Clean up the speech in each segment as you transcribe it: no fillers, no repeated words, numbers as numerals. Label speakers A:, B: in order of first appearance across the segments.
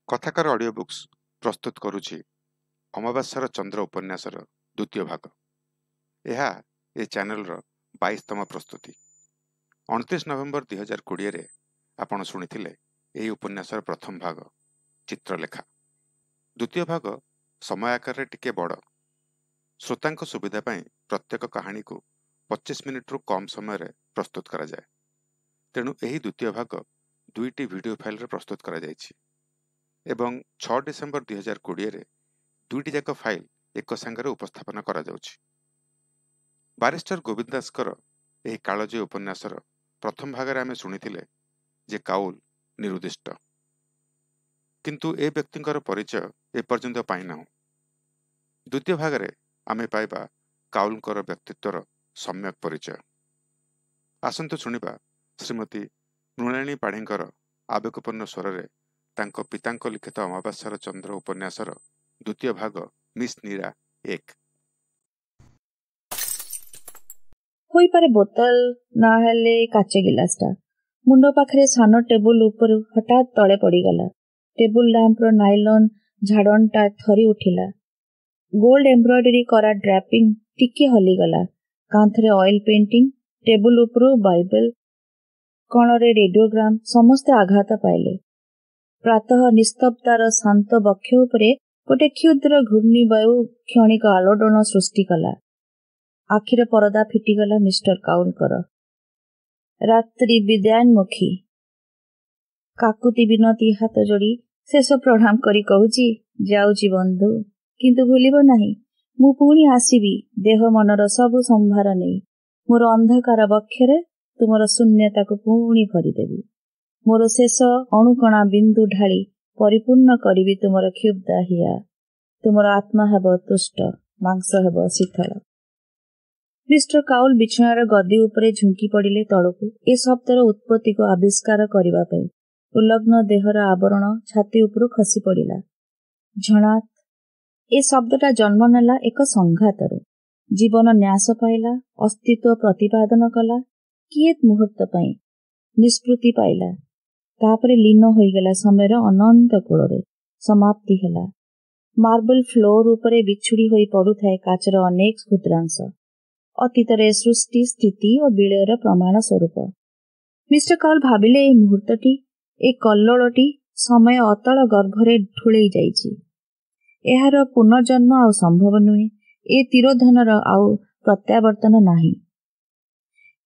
A: କଥାକାର audio books ପ୍ରସ୍ତୁତ କରୁଛି ଅମାବାସ୍ୟାର ଚନ୍ଦ୍ର ଉପନ୍ୟାସର ଦ୍ୱିତୀୟ ଭାଗ। ଏହା ଏ ଚ୍ୟାନେଲର 22ତମ ପ୍ରସ୍ତୁତି। 29 ନଭେମ୍ବର 2020ରେ ଆପଣ ଶୁଣିଥିଲେ ଏହି ଉପନ୍ୟାସର ପ୍ରଥମ ଭାଗ ଚିତ୍ରଲେଖା। ଦ୍ୱିତୀୟ ଭାଗ ସମୟ ଆକାରରେ ଟିକେ ବଡ଼। ଶ୍ରୋତାଙ୍କ ସୁବିଧା ପାଇଁ ପ୍ରତ୍ୟେକ କାହାଣୀକୁ 25 ମିନିଟରୁ କମ୍ ସମୟରେ ପ୍ରସ୍ତୁତ କରାଯାଏ। ତେଣୁ ଏହି ଦ୍ୱିତୀୟ ଭାଗ ଦୁଇଟି ଭିଡ଼ିଓ ଫାଇଲରେ ପ୍ରସ୍ତୁତ କରାଯାଇଛି ଏବଂ 6 ଡିସେମ୍ବର 2020ରେ ଦୁଇଟି ଯାକ ଫାଇଲ ଏକ ସାଙ୍ଗରେ ଉପସ୍ଥାପନା କରାଯାଉଛି। ବାରିଷ୍ଟର ଗୋବିନ୍ଦ ଦାସଙ୍କର ଏହି କାଳଜୟୀ ଉପନ୍ୟାସର ପ୍ରଥମ ଭାଗରେ ଆମେ ଶୁଣିଥିଲେ ଯେ କାଉଲ ନିରୁଦ୍ଦିଷ୍ଟ, କିନ୍ତୁ ଏ ବ୍ୟକ୍ତିଙ୍କର ପରିଚୟ ଏପର୍ଯ୍ୟନ୍ତ ପାଇନାହୁଁ। ଦ୍ୱିତୀୟ ଭାଗରେ ଆମେ ପାଇବା କାଉଲଙ୍କର ବ୍ୟକ୍ତିତ୍ୱର ସମ୍ୟକ ପରିଚୟ। ଆସନ୍ତୁ ଶୁଣିବା ଶ୍ରୀମତୀ ମୃଣାଳିନୀ ପାଢ଼ୀଙ୍କର ଆବେଗପୂର୍ଣ୍ଣ ସ୍ୱରରେ ତାଙ୍କ ପିତାଙ୍କ ଲିଖିତ ଅମାବାସ୍ୟାର ଚନ୍ଦ୍ର ଉପନ୍ୟାସର ଦ୍ୱିତୀୟ ଭାଗ ମିସ୍ ନୀରା 1।
B: ହୋଇପାରେ ବୋତଲ, ନା ହେଲେ କାଚ ଗିଲାସଟା ମୁଣ୍ଡ ପାଖରେ ସାନ ଟେବୁଲ ଉପରୁ ହଠାତ୍ ତଳେ ପଡ଼ିଗଲା। ଟେବୁଲ ଲ୍ୟାମ୍ପର ନାଇଲନ୍ ଝାଡ଼ନଟା ଥରି ଉଠିଲା। ଗୋଲ୍ଡ ଏମ୍ବ୍ରଏଡରୀ କରା ଡ୍ରାପିଂ ଟିକେ ହଲିଗଲା। କାନ୍ଥରେ ଅଏଲ ପେଣ୍ଟିଂ, ଟେବୁଲ ଉପରୁ ବାଇବେଲ, କଣରେ ରେଡିଓଗ୍ରାମ, ସମସ୍ତେ ଆଘାତ ପାଇଲେ। ପ୍ରାତଃ ନିସ୍ତବ୍ଧତାର ଶାନ୍ତ ବକ୍ଷ ଉପରେ ଗୋଟେ କ୍ଷୁଦ୍ର ଘୂର୍ଣ୍ଣିବାୟୁ କ୍ଷଣିକ ଆଲୋଡ଼ନ ସୃଷ୍ଟି କଲା। ଆଖିର ପରଦା ଫିଟିଗଲା ମିଷ୍ଟର କାଉଲଙ୍କର। ରାତ୍ରି ବିଦାୟୋନ୍ମୁଖୀ। କାକୁତି ବିନତି ହାତ ଯୋଡ଼ି ଶେଷ ପ୍ରଣାମ କରି କହୁଛି, ଯାଉଛି ବନ୍ଧୁ, କିନ୍ତୁ ଭୁଲିବ ନାହିଁ, ମୁଁ ପୁଣି ଆସିବି ଦେହ ମନର ସବୁ ସମ୍ଭାର ନେଇ। ମୋର ଅନ୍ଧକାର ବକ୍ଷରେ ତୁମର ଶୂନ୍ୟତାକୁ ପୁଣି ଭରିଦେବି। ମୋର ଶେଷ ଅଣୁକଣା ବିନ୍ଦୁ ଢାଳି ପରିପୂର୍ଣ୍ଣ କରିବି ତୁମର କ୍ଷୁବ୍ଧା ହିଆ। ତୁମର ଆତ୍ମା ହେବ ତୁଷ୍ଟ, ମାଂସ ହେବ ଶୀତଳ। ମିଷ୍ଟର କାଉଲ ବିଛଣାର ଗଦି ଉପରେ ଝୁଙ୍କି ପଡ଼ିଲେ ତଳକୁ, ଏ ଶବ୍ଦର ଉତ୍ପତ୍ତିକୁ ଆବିଷ୍କାର କରିବା ପାଇଁ। ଉଲଗ୍ନ ଦେହର ଆବରଣ ଛାତି ଉପରୁ ଖସି ପଡ଼ିଲା। ଝଣାତ୍ ଏ ଶବ୍ଦଟା ଜନ୍ମ ନେଲା ଏକ ସଂଘାତରୁ। ଜୀବନ ନ୍ୟାସ ପାଇଲା, ଅସ୍ତିତ୍ୱ ପ୍ରତିପାଦନ କଲା, କିଏତ ମୁହୂର୍ତ୍ତ ପାଇଁ ନିଷ୍କୃତି ପାଇଲା। ତାପରେ ଲୀନ ହୋଇଗଲା ସମୟର ଅନନ୍ତ କୂଳରେ। ସମାପ୍ତି ହେଲା। ମାର୍ବଲ ଫ୍ଲୋର ଉପରେ ବିଛୁଡ଼ି ହୋଇ ପଡୁଥାଏ କାଚର ଅନେକ କ୍ଷୁଦ୍ରାଂଶ, ଅତୀତରେ ସୃଷ୍ଟି, ସ୍ଥିତି ଓ ବିଳୟର ପ୍ରମାଣ ସ୍ୱରୂପ। ମିଷ୍ଟର କାଉଲ ଭାବିଲେ, ଏଇ ମୁହୂର୍ତ୍ତଟି, ଏ କଲ୍ଲୋଳଟି ସମୟ ଅତଳ ଗର୍ଭରେ ଢୁଳେଇ ଯାଇଛି। ଏହାର ପୁନର୍ଜନ୍ମ ଆଉ ସମ୍ଭବ ନୁହେଁ। ଏ ତିରୋଧନର ଆଉ ପ୍ରତ୍ୟାବର୍ତ୍ତନ ନାହିଁ।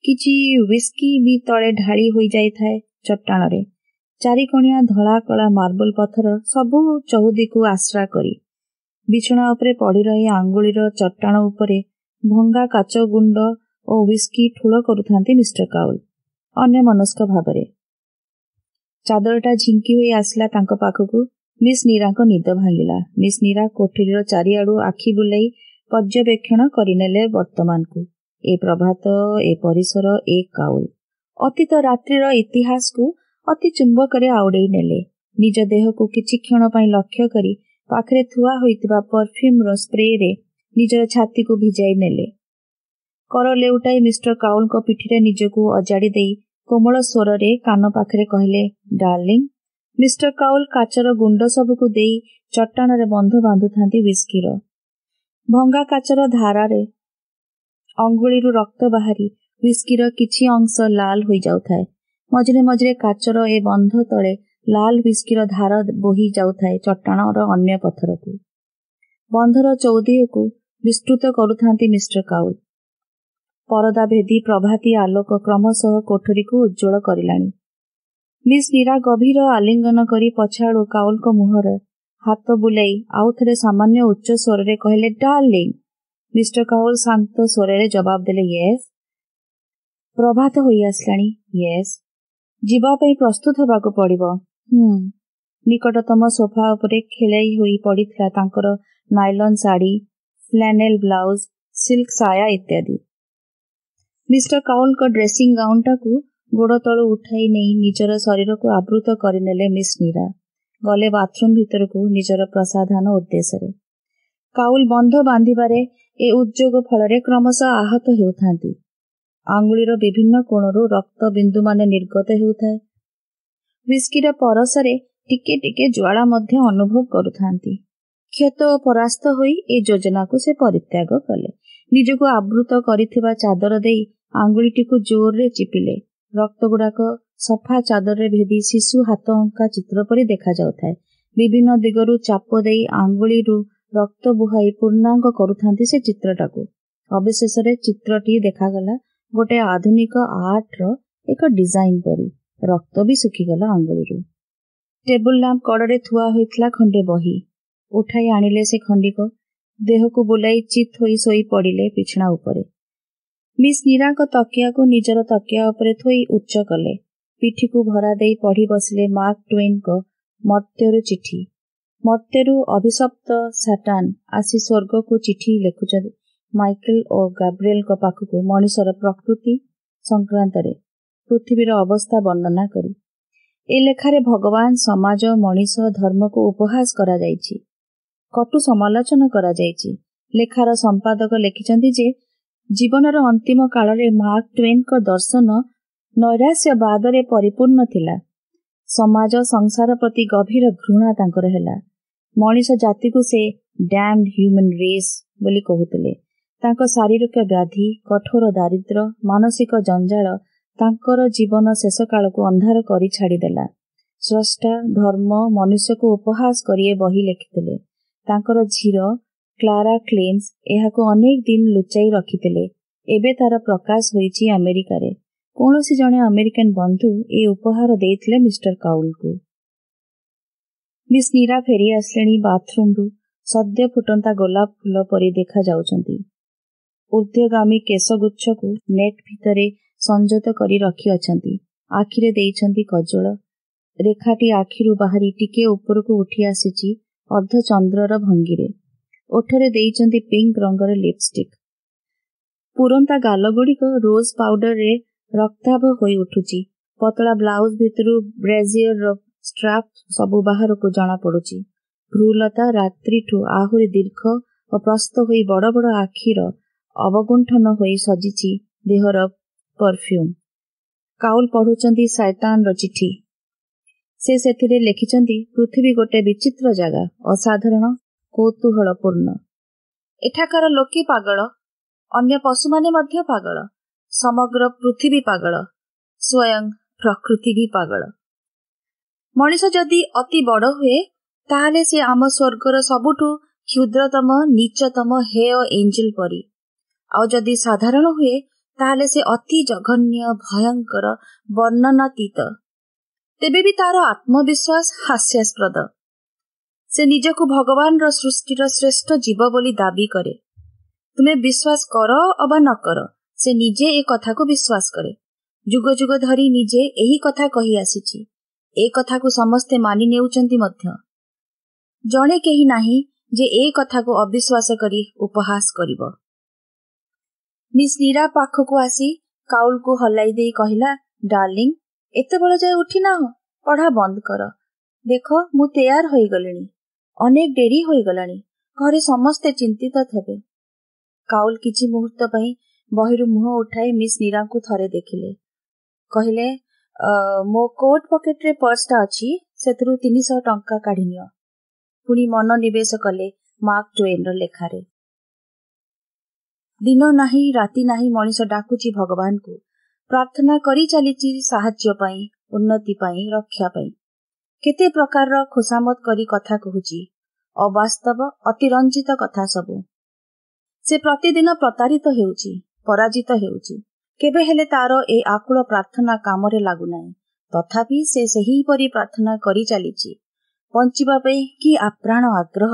B: କିଛି ହ୍ୱିସ୍କି ବି ତଳେ ଢାଳି ହୋଇଯାଇଥାଏ ଚଟ୍ଟାଣରେ। ଚାରିକଣିଆ ଧଳା କଳା ମାର୍ବଲ ପଥର ସବୁ ଚଉଦିକୁ ଆଶ୍ରା କରି ବିଛଣା ଉପରେ ପଡ଼ି ରହି ଆଙ୍ଗୁଳିର ଚଟ୍ଟାଣ ଉପରେ ଭଙ୍ଗା କାଚ ଗୁଣ୍ଡ ଓ ହ୍ୱିସ୍କି ଠୁଳ କରୁଥାନ୍ତି ମିଷ୍ଟର କାଉଲ ଅନ୍ୟମନସ୍କ ଭାବରେ। ଚାଦରଟା ଝିଙ୍କି ହୋଇ ଆସିଲା ତାଙ୍କ ପାଖକୁ। ମିସ୍ ନୀରାଙ୍କ ନିଦ ଭାଙ୍ଗିଲା। ମିସ୍ ନୀରା କୋଠରୀର ଚାରିଆଡୁ ଆଖି ବୁଲାଇ ପର୍ଯ୍ୟବେକ୍ଷଣ କରିନେଲେ ବର୍ତ୍ତମାନକୁ। ଏ ପ୍ରଭାତ, ଏ ପରିସର, ଏ କାଉଲ। ଅତୀତ ରାତ୍ରିର ଇତିହାସକୁ ଅତି ଚୁମ୍ବକରେ ଆଉଡ଼େଇ ନେଲେ। ନିଜ ଦେହକୁ କିଛି କ୍ଷଣ ପାଇଁ ଲକ୍ଷ୍ୟ କରି ପାଖରେ ଥୁଆ ହୋଇଥିବା ପରଫ୍ୟୁମର ସ୍ପ୍ରେରେ ନିଜର ଛାତିକୁ ଭିଜାଇ ନେଲେ। କର ଲେଉଟାଇ ମିଷ୍ଟର କାଉଲଙ୍କ ପିଠିରେ ନିଜକୁ ଅଜାଡ଼ି ଦେଇ କୋମଳ ସ୍ୱରରେ କାନ ପାଖରେ କହିଲେ, ଡାର୍ଲିଂ। ମିଷ୍ଟର କାଉଲ କାଚର ଗୁଣ୍ଡ ସବୁକୁ ଦେଇ ଚଟ୍ଟାଣରେ ବନ୍ଧ ବାନ୍ଧୁଥାନ୍ତି ହ୍ୱିସ୍କିର। ଭଙ୍ଗା କାଚର ଧାରାରେ ଅଙ୍ଗୁଳିରୁ ରକ୍ତ ବାହାରି ହ୍ୱିସ୍କିର କିଛି ଅଂଶ ଲାଲ ହୋଇଯାଉଥାଏ। ମଝିରେ ମଝିରେ କାଚର ଏ ବନ୍ଧ ତଳେ ଲାଲ ହ୍ୱିସ୍କିର ଧାର ବୋହି ଯାଉଥାଏ ଚଟ୍ଟାଣର ଅନ୍ୟ ପଥରକୁ। ବନ୍ଧର ଚୌଦିହକୁ ବିସ୍ତୃତ କରୁଥାନ୍ତି ମିଷ୍ଟର କାଉଲ। ପରଦା ଭେଦି ପ୍ରଭାତୀ ଆଲୋକ କ୍ରମଶଃ କୋଠରୀକୁ ଉଜ୍ଜ୍ୱଳ କରିଲାଣି। ମିସ୍ ନୀରା ଗଭୀର ଆଲିଙ୍ଗନ କରି ପଛଆଡ଼ୁ କାଉଲଙ୍କ ମୁହଁରେ ହାତ ବୁଲାଇ ଆଉ ଥରେ ସାମାନ୍ୟ ଉଚ୍ଚ ସ୍ୱରରେ କହିଲେ, ଡାର୍ଲିଂ। ମିଷ୍ଟର କାଉଲ ଶାନ୍ତ ସ୍ୱରରେ ଜବାବ ଦେଲେ, ୟେସ୍। ପ୍ରଭାତ ହୋଇ ଆସିଲାଣି। ୟେସ୍। ଯିବା ପାଇଁ ପ୍ରସ୍ତୁତ ହେବାକୁ ପଡ଼ିବ। ନିକଟତମ ସୋଫା ଉପରେ ଖେଳେଇ ହୋଇ ପଡ଼ିଥିଲା ତାଙ୍କର ନାଇଲନ୍ ଶାଢ଼ୀ, ଫ୍ଲାନେଲ ବ୍ଲାଉଜ, ସିଲ୍କ ସାୟା ଇତ୍ୟାଦି। ମିଷ୍ଟର କାଉଲଙ୍କ ଡ୍ରେସିଂ ଗାଉନଟାକୁ ଗୋଡ଼ ତଳୁ ଉଠାଇ ନେଇ ନିଜର ଶରୀରକୁ ଆବୃତ କରିନେଲେ ମିସ୍ ନୀରା। ଗଲେ ବାଥରୁମ୍ ଭିତରକୁ ନିଜର ପ୍ରସାଧନ ଉଦ୍ଦେଶ୍ୟରେ। କାଉଲ ବନ୍ଧ ବାନ୍ଧିବାରେ ଏ ଉଦ୍ଯୋଗ ଫଳରେ କ୍ରମଶଃ ଆହତ ହେଉଥାନ୍ତି। ଆଙ୍ଗୁଳିର ବିଭିନ୍ନ କୋଣରୁ ରକ୍ତ ବିନ୍ଦୁମାନେ ନିର୍ଗତ ହେଉଥାଏ। ହ୍ୱିସ୍କିର ପରଶରେ ଟିକେ ଟିକେ ଜ୍ୱାଳା ମଧ୍ୟ ଅନୁଭବ କରୁଥାନ୍ତି। କ୍ଷତ ଓ ପରାସ୍ତ ହୋଇ ଏ ଯୋଜନାକୁ ସେ ପରିତ୍ୟାଗ କଲେ। ନିଜକୁ ଆବୃତ କରିଥିବା ଚାଦର ଦେଇ ଆଙ୍ଗୁଳିଟିକୁ ଜୋରରେ ଚିପିଲେ। ରକ୍ତଗୁଡାକ ସଫା ଚାଦରରେ ଭେଦି ଶିଶୁ ହାତ ଅଙ୍କା ଚିତ୍ର ପରି ଦେଖାଯାଉଥାଏ। ବିଭିନ୍ନ ଦିଗରୁ ଚାପ ଦେଇ ଆଙ୍ଗୁଳିରୁ ରକ୍ତ ବୁହାଇ ପୂର୍ଣ୍ଣାଙ୍ଗ କରୁଥାନ୍ତି ସେ ଚିତ୍ରଟାକୁ। ଅବଶେଷରେ ଚିତ୍ରଟି ଦେଖାଗଲା ଗୋଟେ ଆଧୁନିକ ଆର୍ଟର ଏକ ଡିଜାଇନ ପରି। ରକ୍ତ ବି ଶୁଖିଗଲା ଆଙ୍ଗୁଳିରୁ। ଟେବୁଲ ଲ୍ୟାମ୍ପ କଡ଼ରେ ଥୁଆ ହୋଇଥିଲା ଖଣ୍ଡେ ବହି। ଉଠାଇ ଆଣିଲେ ସେ ଖଣ୍ଡିକ। ଦେହକୁ ବୁଲାଇ ଚିତ୍ ହୋଇ ଶୋଇ ପଡ଼ିଲେ ବିଛଣା ଉପରେ। ମିସ୍ ନୀରାଙ୍କ ତକିଆକୁ ନିଜର ତକିଆ ଉପରେ ଥୋଇ ଉଚ୍ଚ କଲେ। ପିଠିକୁ ଭରା ଦେଇ ପଢ଼ି ବସିଲେ ମାର୍କ ଟ୍ୱେନ୍ଙ୍କ ମର୍ତ୍ତ୍ୟରୁ ଚିଠି। ମର୍ତ୍ତ୍ୟରୁ ଅଭିଶପ୍ତ ସାଟାନ ଆସି ସ୍ୱର୍ଗକୁ ଚିଠି ଲେଖୁଛନ୍ତି ମାଇକେଲ ଓ ଗାବ୍ରିଏଲଙ୍କ ପାଖକୁ ମଣିଷର ପ୍ରକୃତି ସଂକ୍ରାନ୍ତରେ ପୃଥିବୀର ଅବସ୍ଥା ବର୍ଣ୍ଣନା କରି। ଏ ଲେଖାରେ ଭଗବାନ, ସମାଜ, ମଣିଷ, ଧର୍ମକୁ ଉପହାସ କରାଯାଇଛି, କଟୁ ସମାଲୋଚନା କରାଯାଇଛି। ଲେଖାର ସମ୍ପାଦକ ଲେଖିଛନ୍ତି ଯେ ଜୀବନର ଅନ୍ତିମ କାଳରେ ମାର୍କ ଟ୍ୱେନ୍ଙ୍କ ଦର୍ଶନ ନୈରାଶ୍ୟବାଦରେ ପରିପୂର୍ଣ୍ଣ ଥିଲା। ସମାଜ, ସଂସାର ପ୍ରତି ଗଭୀର ଘୃଣା ତାଙ୍କର ହେଲା। ମଣିଷ ଜାତିକୁ ସେ ଡ୍ୟାମ୍ଡ ହ୍ୟୁମାନ୍ ରେସ୍ ବୋଲି କହୁଥିଲେ। ତାଙ୍କ ଶାରୀରିକ ବ୍ୟାଧି, କଠୋର ଦାରିଦ୍ର୍ୟ, ମାନସିକ ଜଞ୍ଜାଳ ତାଙ୍କର ଜୀବନ ଶେଷ କାଳକୁ ଅନ୍ଧାର କରି ଛାଡ଼ିଦେଲା। ସ୍ରଷ୍ଟା, ଧର୍ମ, ମନୁଷ୍ୟକୁ ଉପହାସ କରି ଏ ବହି ଲେଖିଥିଲେ। ତାଙ୍କର ଝିଅ କ୍ଲାରା କ୍ଲେମ୍ସ ଏହାକୁ ଅନେକ ଦିନ ଲୁଚାଇ ରଖିଥିଲେ। ଏବେ ତାର ପ୍ରକାଶ ହୋଇଛି ଆମେରିକାରେ। କୌଣସି ଜଣେ ଆମେରିକାନ ବନ୍ଧୁ ଏ ଉପହାର ଦେଇଥିଲେ ମିଷ୍ଟର କାଉଲକୁ। ମିସ୍ ନୀରା ଫେରି ଆସିଲେଣି ବାଥରୁମରୁ। ସଦ୍ୟ ଫୁଟନ୍ତା ଗୋଲାପ ଫୁଲ ପରି ଦେଖାଯାଉଛନ୍ତି। ଊର୍ଦ୍ଧ୍ୱଗାମୀ କେଶଗୁଚ୍ଛକୁ ନେଟ୍ ଭିତରେ ସଂଯତ କରି ରଖିଅଛନ୍ତି। ଆଖିରେ ଦେଇଛନ୍ତି କଜଳ। ରେଖାଟି ଆଖିରୁ ବାହାରି ଟିକେ ଉପରକୁ ଉଠି ଆସିଛି ଅର୍ଦ୍ଧଚନ୍ଦ୍ରର ଭଙ୍ଗୀରେ। ଓଠରେ ଦେଇଛନ୍ତି ପିଙ୍କ ରଙ୍ଗର ଲିପଷ୍ଟିକ୍। ପୁରନ୍ତା ଗାଲଗୁଡ଼ିକ ରୋଜ ପାଉଡରରେ ରକ୍ତାଭ ହୋଇ ଉଠୁଛି। ପତଳା ବ୍ଲାଉଜ ଭିତରୁ ବ୍ରେଜିୟରର ଷ୍ଟ୍ରାପ୍ ସବୁ ବାହାରକୁ ଜଣାପଡୁଛି। ଭ୍ରୂଲତା ରାତ୍ରିଠୁ ଆହୁରି ଦୀର୍ଘ ଓ ପ୍ରସ୍ଥ ହୋଇ ବଡ଼ ବଡ଼ ଆଖିର ଅବଗୁଣ୍ଠନ ହୋଇ ସଜିଛି ଦେହର ପରଫ୍ୟୁମ୍। କାଉଲ ପଢୁଛନ୍ତି ଶୈତାନର ଚିଠି। ସେ ସେଥିରେ ଲେଖିଛନ୍ତି, ପୃଥିବୀ ଗୋଟେ ବିଚିତ୍ର ଜାଗା, ଅସାଧାରଣ, କୌତୂହଳପୂର୍ଣ୍ଣ। ଏଠାକାର ଲୋକେ ପାଗଳ, ଅନ୍ୟ ପଶୁମାନେ ମଧ୍ୟ ପାଗଳ, ସମଗ୍ର ପୃଥିବୀ ପାଗଳ, ସ୍ୱୟଂ ପ୍ରକୃତି ବି ପାଗଳ। ମଣିଷ ଯଦି ଅତି ବଡ଼ ହୁଏ, ତାହେଲେ ସେ ଆମ ସ୍ୱର୍ଗର ସବୁଠୁ କ୍ଷୁଦ୍ରତମ, ନୀଚତମ, ହେୟ ଏଞ୍ଜେଲ ପରି। ଆଉ ଯଦି ସାଧାରଣ ହୁଏ, ତାହେଲେ ସେ ଅତି ଜଘନ୍ୟ, ଭୟଙ୍କର, ବର୍ଣ୍ଣନାତୀତ। ତେବେ ବି ତାର ଆତ୍ମବିଶ୍ୱାସ ହାସ୍ୟାସ୍ପଦ। ସେ ନିଜକୁ ଭଗବାନର ସୃଷ୍ଟିର ଶ୍ରେଷ୍ଠ ଜୀବ ବୋଲି ଦାବି କରେ। ତୁମେ ବିଶ୍ୱାସ କର ଅବା ନ କର, ସେ ନିଜେ ଏ କଥାକୁ ବିଶ୍ୱାସ କରେ। ଯୁଗ ଯୁଗ ଧରି ନିଜେ ଏହି କଥା କହି ଆସିଛି। ଏ କଥାକୁ ସମସ୍ତେ ମାନି ନେଉଛନ୍ତି ମଧ୍ୟ। ଜଣେ କେହି ନାହିଁ ଯେ ଏ କଥାକୁ ଅବିଶ୍ୱାସ କରି ଉପହାସ କରିବ। ମିସ୍ ନୀରା ପାଖକୁ ଆସି କାଉଲକୁ ହଲାଇ ଦେଇ କହିଲା, ଡାର୍ଲିଂ, ଏତେବେଳ ଯାଏ ଉଠିନାହ? ପଢ଼ା ବନ୍ଦ କର। ଦେଖ, ମୁଁ ତେୟାର ହୋଇଗଲିଣି। ଅନେକ ଡେରି ହୋଇଗଲାଣି। ଘରେ ସମସ୍ତେ ଚିନ୍ତିତ ହେବେ। କାଉଲ କିଛି ମୁହୂର୍ତ୍ତ ପାଇଁ ବହିରୁ ମୁହଁ ଉଠାଇ ମିସ୍ ନୀରାଙ୍କୁ ଥରେ ଦେଖିଲେ। କହିଲେ, ମୋ କୋଟ୍ ପକେଟରେ ପର୍ସଟା ଅଛି, ସେଥିରୁ 300 ଟଙ୍କା କାଢ଼ି ନିଅ। ପୁଣି ମନୋନିବେଶ କଲେ ମାର୍କ ଟ୍ୱେନ୍ର ଲେଖାରେ। ଦିନ ନାହିଁ, ରାତି ନାହିଁ, ମଣିଷ ଡାକୁଛି ଭଗବାନଙ୍କୁ, ପ୍ରାର୍ଥନା କରି ଚାଲିଛି ସାହାଯ୍ୟ ପାଇଁ, ଉନ୍ନତି ପାଇଁ, ରକ୍ଷା ପାଇଁ। କେତେ ପ୍ରକାରର ଖୋସାମତ କରି କଥା କହୁଛି, ଅବାସ୍ତବ, ଅତିରଞ୍ଜିତ କଥା ସବୁ। ସେ ପ୍ରତିଦିନ ପ୍ରତାରିତ ହେଉଛି, ପରାଜିତ ହେଉଛି। କେବେ ହେଲେ ତାର ଏ ଆକୁଳ ପ୍ରାର୍ଥନା କାମରେ ଲାଗୁନାହିଁ। ତଥାପି ସେ ସେହିପରି ପ୍ରାର୍ଥନା କରି ଚାଲିଛି। ବଞ୍ଚିବା ପାଇଁ କି ଆପ୍ରାଣ ଆଗ୍ରହ!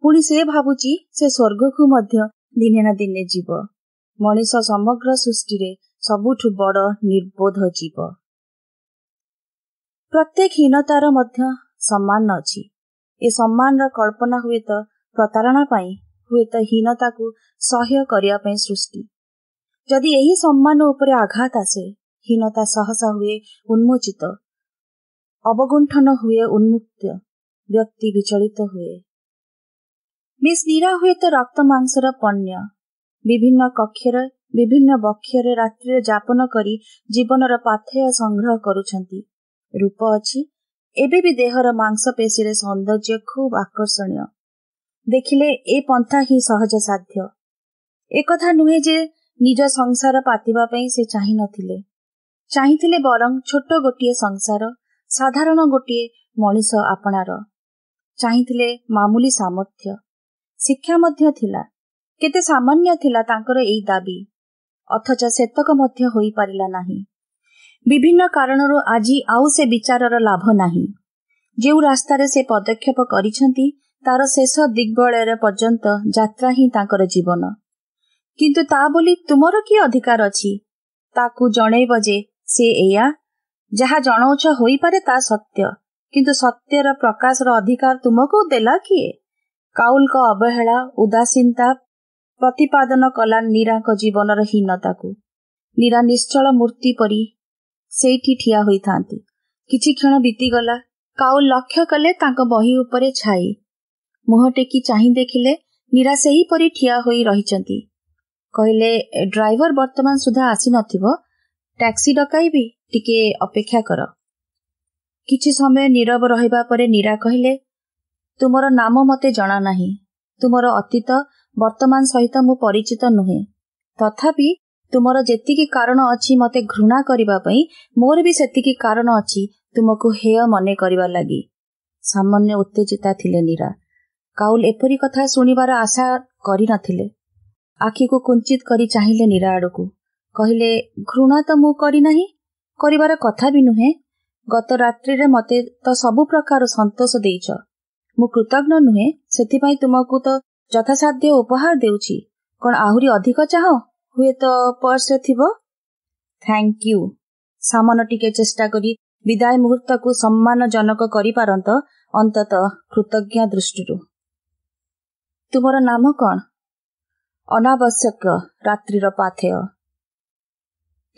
B: ପୁଣି ସେ ଭାବୁଛି ସେ ସ୍ୱର୍ଗକୁ ମଧ୍ୟ ଦିନେ ନା ଦିନେ ଯିବ। ମଣିଷ ସମଗ୍ର ସୃଷ୍ଟିରେ ସବୁଠୁ ବଡ଼ ନିର୍ବୋଧ ଜୀବ। ପ୍ରତ୍ୟେକ ହୀନତାର ମଧ୍ୟ ସମ୍ମାନ ଅଛି। ଏ ସମ୍ମାନର କଳ୍ପନା ହୁଏତ ପ୍ରତାରଣା ପାଇଁ, ହୁଏତ ହୀନତାକୁ ସହ୍ୟ କରିବା ପାଇଁ ସୃଷ୍ଟି। ଯଦି ଏହି ସମ୍ମାନ ଉପରେ ଆଘାତ ଆସେ, ହୀନତା ସହସା ହୁଏ ଉନ୍ମୋଚିତ, ଅବଗୁଣ୍ଠନ ହୁଏ ଉନ୍ମୁକ୍ତ, ବ୍ୟକ୍ତି ବିଚଳିତ ହୁଏ। ମିସ୍ ନୀରା ହୁଏତ ରକ୍ତ ମାଂସର ପଣ୍ୟ। ବିଭିନ୍ନ କକ୍ଷରେ, ବିଭିନ୍ନ ବକ୍ଷରେ ରାତ୍ରିରେ ଯାପନ କରି ଜୀବନର ପାଥେୟ ସଂଗ୍ରହ କରୁଛନ୍ତି। ରୂପ ଅଛି, ଏବେ ବି ଦେହର ମାଂସପେଶୀରେ ସୌନ୍ଦର୍ଯ୍ୟ ଖୁବ୍ ଆକର୍ଷଣୀୟ। ଦେଖିଲେ ଏ ପନ୍ଥା ହିଁ ସହଜ ସାଧ୍ୟ। ଏକଥା ନୁହେଁ ଯେ ନିଜ ସଂସାର ପାତିବା ପାଇଁ ସେ ଚାହିଁ ନଥିଲେ। ଚାହିଁଥିଲେ ବରଂ ଛୋଟ ଗୋଟିଏ ସଂସାର, ସାଧାରଣ ଗୋଟିଏ ମଣିଷ ଆପଣାର। ଚାହିଁଥିଲେ ମାମୁଲି ସାମର୍ଥ୍ୟ, ଶିକ୍ଷା ମଧ୍ୟ ଥିଲା। କେତେ ସାମାନ୍ୟ ଥିଲା ତାଙ୍କର ଏଇ ଦାବି, ଅଥଚ ସେତକ ମଧ୍ୟ ହୋଇପାରିଲା ନାହିଁ। ବିଭିନ୍ନ କାରଣରୁ ଆଜି ଆଉ ସେ ବିଚାରର ଲାଭ ନାହିଁ। ଯେଉଁ ରାସ୍ତାରେ ସେ ପଦକ୍ଷେପ କରିଛନ୍ତି ତାର ଶେଷ ଦିଗ୍ବଳୟ ପର୍ଯ୍ୟନ୍ତ ଯାତ୍ରା ହିଁ ତାଙ୍କର ଜୀବନ। କିନ୍ତୁ ତା ବୋଲି ତୁମର କି ଅଧିକାର ଅଛି ତାକୁ ଜଣେଇବ ଯେ ସେ ଏଇଆ? ଯାହା ଜଣାଉଛ ହୋଇପାରେ ତା ସତ୍ୟ, କିନ୍ତୁ ସତ୍ୟର ପ୍ରକାଶର ଅଧିକାର ତୁମକୁ ଦେଲା କିଏ? କାଉଲଙ୍କ ଅବହେଳା, ଉଦାସୀନତା ପ୍ରତିପାଦନ କଲା ନୀରାଙ୍କ ଜୀବନର ହୀନତାକୁ। ନୀରା ନିଶ୍ଚଳ ମୂର୍ତ୍ତି ପରି ସେଇଠି ଠିଆ ହୋଇଥାନ୍ତି। କିଛି କ୍ଷଣ ବିତିଗଲା। କାଉଲ ଲକ୍ଷ୍ୟ କଲେ ତାଙ୍କ ବହି ଉପରେ ଛାଇ। ମୁହଁ ଟେକି ଚାହିଁ ଦେଖିଲେ ନୀରା ସେହିପରି ଠିଆ ହୋଇ ରହିଛନ୍ତି। କହିଲେ, ଡ୍ରାଇଭର ବର୍ତ୍ତମାନ ସୁଦ୍ଧା ଆସିନଥିବ, ଟ୍ୟାକ୍ସି ଡକାଇବି, ଟିକେ ଅପେକ୍ଷା କର। କିଛି ସମୟ ନୀରବ ରହିବା ପରେ ନୀରା କହିଲେ, ତୁମର ନାମ ମୋତେ ଜଣା ନାହିଁ। ତୁମର ଅତୀତ ବର୍ତ୍ତମାନ ସହିତ ମୁଁ ପରିଚିତ ନୁହେଁ। ତଥାପି ତୁମର ଯେତିକି କାରଣ ଅଛି ମୋତେ ଘୃଣା କରିବା ପାଇଁ, ମୋର ବି ସେତିକି କାରଣ ଅଛି ତୁମକୁ ହେୟ ମନେ କରିବା ଲାଗି। ସାମାନ୍ୟ ଉତ୍ତେଜିତା ଥିଲେ ନୀରା। କାଉଲ ଏପରି କଥା ଶୁଣିବାର ଆଶା କରିନଥିଲେ। ଆଖିକୁ କୁଞ୍ଚିତ କରି ଚାହିଁଲେ ନୀରା ଆଡ଼କୁ। କହିଲେ, ଘୃଣା ତ ମୁଁ କରିନାହିଁ, କରିବାର କଥା ବି ନୁହେଁ। ଗତ ରାତ୍ରିରେ ମୋତେ ତ ସବୁ ପ୍ରକାର ସନ୍ତୋଷ ଦେଇଛ। ମୁଁ କୃତଜ୍ଞ ନୁହେଁ, ସେଥିପାଇଁ ତୁମକୁ ତ ଯଥାସାଧ୍ୟ ଉପହାର ଦେଉଛି। କ'ଣ ଆହୁରି ଅଧିକ ଚାହଁ? ହୁଏତ ପର୍ସରେ ଥିବ। Thank you. ସାମାନ୍ୟ ଟିକେ ଚେଷ୍ଟା କରି ବିଦାୟ ମୁହୂର୍ତ୍ତକୁ ସମ୍ମାନଜନକ କରିପାରନ୍ତ, ଅନ୍ତତଃ କୃତଜ୍ଞ ଦୃଷ୍ଟିରୁ। ତୁମର ନାମ କ'ଣ? ଅନାବଶ୍ୟକ ରାତ୍ରିର ପାଥେୟ।